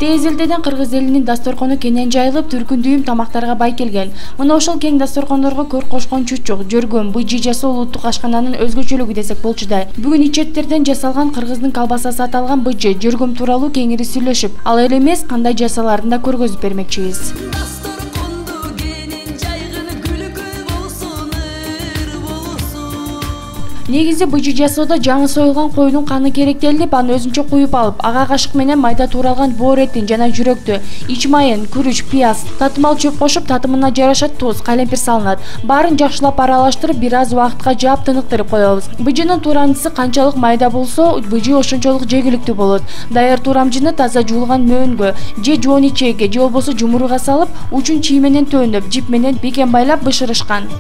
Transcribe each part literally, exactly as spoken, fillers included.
Тез элдеден Кыргыз элинин дасторкону кенен жайылып, түркүн дүйүм тамактарга бай келген. Мына ошол кең дасторкондорго көр кошкон чучук, жөргөм, быжы жасоо улуттук ашкананын өзгөчөлүгү десек болчу да. Бүгүн ичеттерден жасалган кыргыздын колбасасы аталган быжы, жөргөм тууралуу кеңири сүйлөшүп, ал эле эмес кандай жасаларын да көргөзүп бермекчибиз. Негизи быжы жасоодо жаңы союлган койдун каны керектелип, аны өзүнчө куюп алып, ага кашык менен майда тууралган боор этин жана жүрөктү, ич майын, күрүч, пияз, татымал чөп кошуп, татымына жараша туз, калемпир салынат. Баарын жакшылап аралаштырып, бир аз убакытка жаап тыныктырып коебуз. Быжынын туурамчысы канчалык майда болсо, быжы ошончолук жегиликтүү болот. Даяр туурамчыны таза жуулган мөөнгө же жоон ичекке же болбосо жумуруга салып, учун чий менен төндөп, жип менен бекен байлап бышырышкан.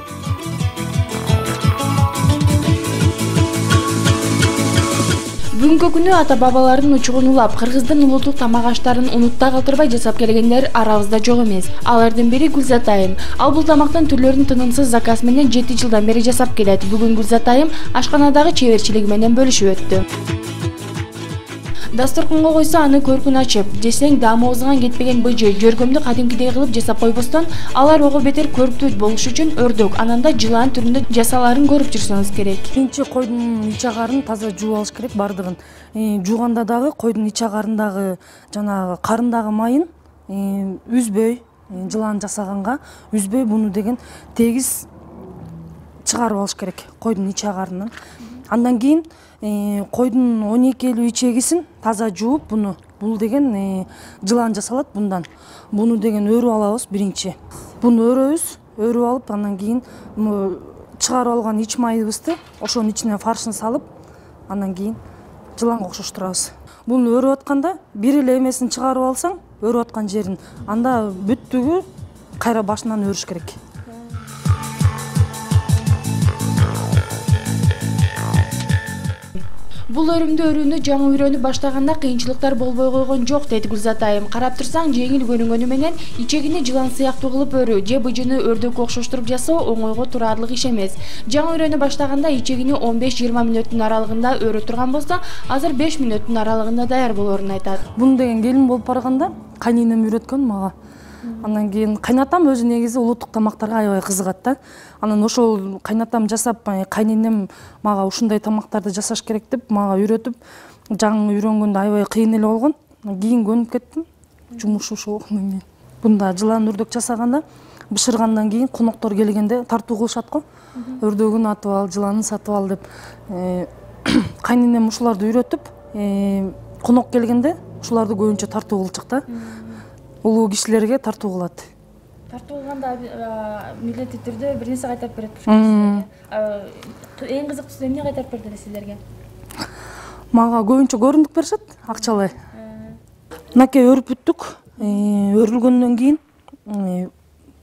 Бүгүнкү күнү ата-бабалардын учугун улап, кыргыздын улуттук тамак аштарын унутта калтырбай жасап келгендер арабызда жок эмес. Алардын бири Гүлзатайым. Ал бул тамактын түрлөрүн тынымсыз заказ менен жети жылдан бери жасап келет. Бүгүн Гүлзатайым ашканадагы чеберчилиги менен бөлүшүп өттү. Дасторконго койсо аны көркүн ачып, жесең даамыбыздан кетпеген быжы, жөргөмдү кадимкидей кылып жасап койбостон, алар ого бетер көрктүү болуш үчүн өрдөк, анан да жылан түрүндө жасаларын көрүп жүрсөңүз керек. Биринчи койдун ич агарын таза жууп алыш керек бардыгын. Жууганда дагы койдун ич агарындагы жанагы карындагы майын үзбөй, жылан жасаганга үзбөй буну деген тегиз чыгарып алыш керек койдун ич агарынын. Андан кийин койдун он экилүү ичегисин таза жууп, буну бул деген жылан жасалат bundan. Буну деген өрүп алабыз биринчи. Буну өрөбүз, өрүп алып, андан кийин чыгарып алган ич майыбызды ошонун ичине фаршын салып, андан кийин жыланга окшоштурабыз. Буну өрүп атканда бир эле эмесин чыгарып алсаң, өрүп аткан жерин, анда бүттүгү кайра башынан өрүш керек. Бул өрүмдү өрүүнү жаңы үйрөнүп баштаганда кыйынчылыктар болбой койгон жок, дейт Гүлзатайым. Карап турсаң, жеңил көрүнгөнү менен ичегини жылан сыяктуу кылып өрүү же быжыны өрдөккө окшоштуруп жасоо оңойго турарлык иш эмес. Жаңы үйрөнүп баштаганда ичегини он беш жыйырма мүнөттүн аралыгында өрө турган болсо, азыр беш мүнөттүн аралыгында даяр болоорун айтат. Буну деген келин болуп барганда кайненем үйрөткөн мага. Андан кийин кайнатам өзү негизи улуттук тамактарга аябай кызыгат да. Анан ошол кайнатам жасап, кайненем мага ушундай тамактарды жасаш керек деп мага үйрөтүп, жаңы үйрөнгөндө аябай кыйын эле болгон. Кийин көнүп кеттим. Жумуш ошо болгондон кийин. Бунда жылан өрдөк жасаганда, бышыргандан кийин коноктор келгенде тартуу кылышат го. Өрдөгүн атып ал, жыланын сатып ал деп. Кайненем ушуларды үйрөтүп, конок келгенде ушуларды көбүнчө тартуу кылчык да. Улуу кишилерге тартуу кылат. Тартуу кылганда милдеттүү түрдө бир нерсе кайтарып берет силерге. Эң кызыктуусу эмне кайтарып берди силерге? Мага көбүнчө көрүндүк беришет, акчалай. Мынакей өрүп бүттүк. Өрүлгөндөн кийин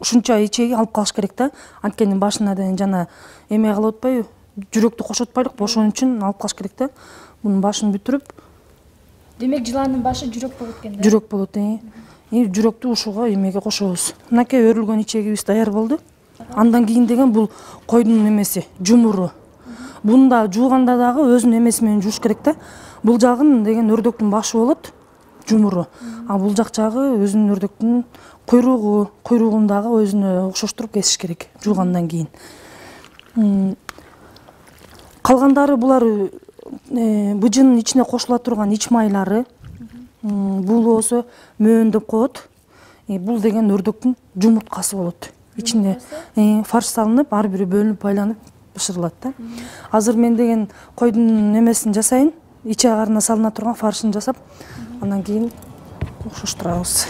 ушунча ичеги алып калыш керек да. Анткени башына деген жана эме кылып атпайбы? Жүрөктү кошотпайлык, ошон үчүн алып калыш керек да. Мунун башын бүтүрүп. Демек жыландын башы жүрөк болот экен да? Жүрөк болот, э. Жүрөктү ушуга эмеге кошобуз. Мынакей өрүлгөн ичегибиз даяр болду. Андан кийин деген бул койдун эмеси, жумуру. Буну да жууганда дагы өзүнүн эмеси менен жууш керек да. Бул жагын деген өрдөктүн башы болот, жумуру. А бул жак жагы өзүнүн өрдөктүн куйругу, куйругун дагы өзүнө окшоштуруп кесиш керек жуугандан кийин. Калгандары булар быжынын ичине кошула турган ич майлары. Бул болсо мөөн деп коет. Бул деген өрдөктүн жумурткасы болот. Ичине фарш салынып, ар бири бөлүнүп байланып бышырылат да. Азыр мен деген койдун эмесин жасайын, ич агарына салына турган фаршын жасап, андан кийин окшоштурабыз.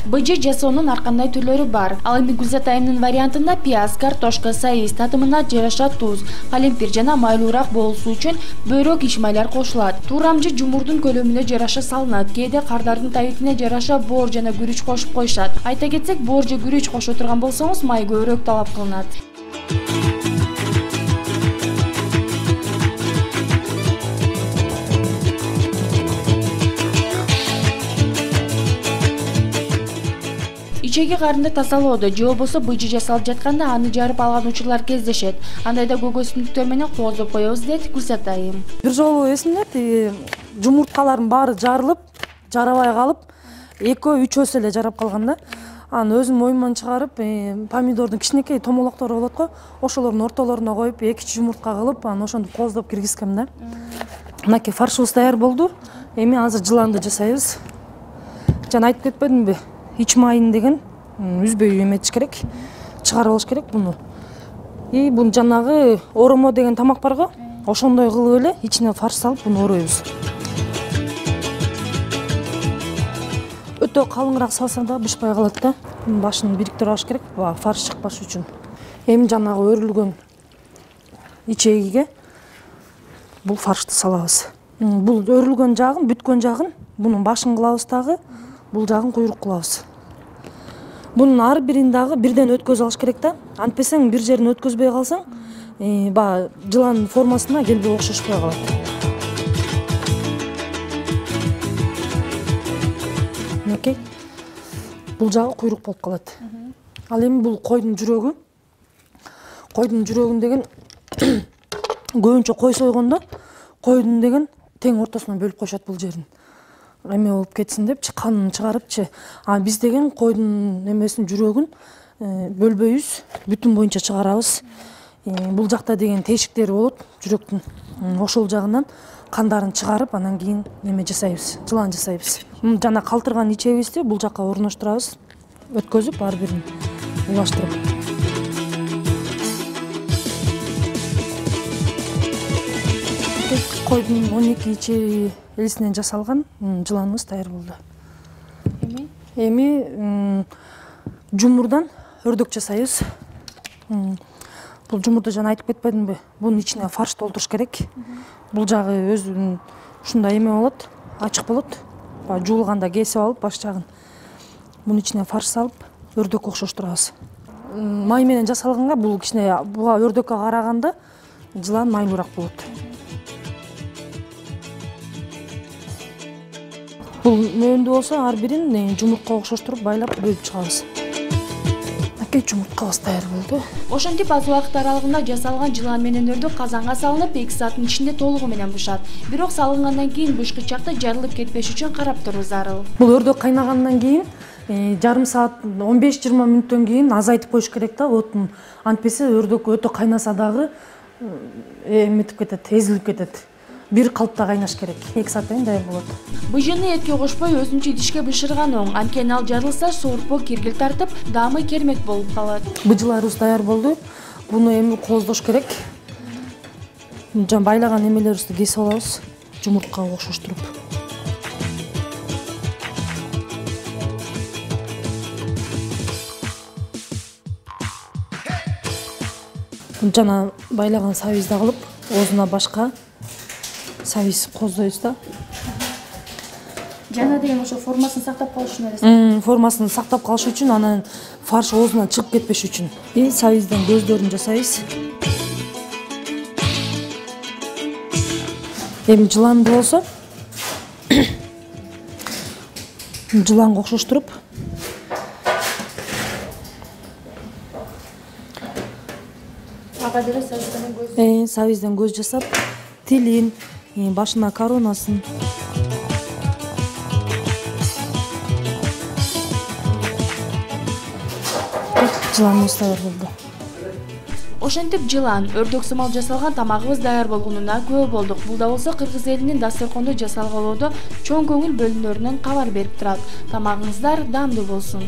Быжы жасоонун ар кандай түрлөрү бар. Ал эми Гүлзатайымдын вариантында пияз, картошка, сайыз, татымына жараша туз, калемпир жана майлуураак болуусу үчүн бөйрөк ич майлар кошулат. Туурамжы жумурдун көлөмүнө жараша салынат. Кээде кардардын табитине жараша боор жана күрүч кошуп коюшат. Айта кетсек, боор же күрүч кошо турган болсоңуз, май көбүрөөк талап кылынат. Ичеги карынды тазалоодо же болбосо быжы жасалып жатканда аны жарып алган учурлар кездешет. Андайда көгөзүндүктөр менен кооздоп коебуз, дейт Гүлзатайым. Бир жолу эсимде, жумурткалардын баары жарылып, жарабай калып, экөө үчөөсү эле жарап калган да. Аны өзүм оюман чыгарып, помидордун кичинекей томолоктору болот го, ошолордун ортолоруна коюп, эки үч жумуртка кылып, анан ошентип кооздоп киргизгем да. Мынакей фаршыбыз даяр болду. Эми азыр жыланды жасайбыз. Жана айтып кетпедимби? Ич майын деген үзбөй эметиш керек, чыгарып алыш керек буну. И бул жанагы оромо деген тамак бар го, ошондой кылып эле ичине фарш салып буну оройбуз. Өтө калыңыраак салсаң да бышпай калат да. Башын бириктирип алыш керек, фарш чыкпаш үчүн. Эми жанагы өрүлгөн ичегиге бул фаршты салабыз. Бул өрүлгөн жагын, бүткөн жагын бунун башын кылабыз дагы, бул жагын куйрук кылабыз. Бунун ар бирин дагы бирден өткөзүп алыш керек да. Антпесең бир жерин өткөзбөй калсаң, баягы жылан формасына келбей окшошпой калат. Мынакей. Бул жагы куйрук болуп калат. Ал эми бул койдун жүрөгү. Койдун жүрөгүн деген көбүнчө кой сойгондо койдун деген тең ортосуна бөлүп коюшат бул жерин. Эме болуп кетсин депчи, канын чыгарыпчы. А биз деген койдун эмесин жүрөгүн бөлбөйбүз, бүтүн боюнча чыгарабыз. Бул жакта деген тешиктери болот жүрөктүн. Ошол жагынан кандарын чыгарып, анан кийин неме жасайбыз, жылан жасайбыз. Жана калтырган ичегибизди бул жакка орноштурабыз, өткөзүп ар бирин улаштырып. Койдун он эки ичеги элисинен жасалган жыланыбыз даяр болду. Эми эми жумурдан өрдөк жасайбыз. Бул жумурду жана айтып кетпедимби? Бунун ичине фарш толтуруш керек. Бул жагы өзүнүн ушундай эме болот, ачык болот. Жуулганда кесип алып баш жагын. Бунун ичине фарш салып, өрдөккө окшоштурабыз. Май менен жасалганга бул кичине буга өрдөккө караганда жылан майлуураак болот. Бул мөөндөй болсо ар бирин жумуртка окшоштуруп байлап бөлүп чыгабыз. Акей жумурткабыз даяр болду. Ошентип аз убакыт аралыгында жасалган жылан менен өрдөк казанга салынып, эки сааттын ичинде толугу менен бышат. Бирок салынгандан кийин бышкычакта жарылып кетпеш үчүн карап туруу зарыл. Бул өрдөк кайнагандан кийин жарым саат он беш жыйырма мүнөттөн кийин азайтып коюш керек да отун. Антпесе өрдөк өтө кайнаса дагы эметип кетет, эзилип кетет. Бир калыпта кайнаш керек. эки сааттан кийин даяр болот. Быжыны этке кошпой өзүнчө идишке бышырган оң. Анткени ал жарылса соорпо киргил тартып, даамы кермек болуп калат. Быжыларыбыз даяр болду. Буну эми кооздош керек. Жана байлаган эмелерибизди кесип алабыз, жумурткага окшоштуруп. Жана байлаган сабизди кылып, оозуна башка сабиз кооздойбуз да. Жана деген ошо формасын сактап калыш үчүн эле. Формасын сактап калыш үчүн, анан фарш оозунан чыгып кетпеш үчүн. И сабизден көздөрүн жасайбыз. Эми жыланды болсо жыланга окшоштуруп ага деле сабизден көз. Э, сабизден көз жасап, тилин, башына коронасын. Жыланыбыз даяр болду. Ошентип жылан, өрдөк сымал жасалган тамагыбыз даяр болгонуна күбө болдук. Бул да болсо кыргыз элинин дасторкондо жасалгалоодо чоң көңүл бөлүнөрүнөн кабар берип турат. Тамагыңыздар даамдуу болсун.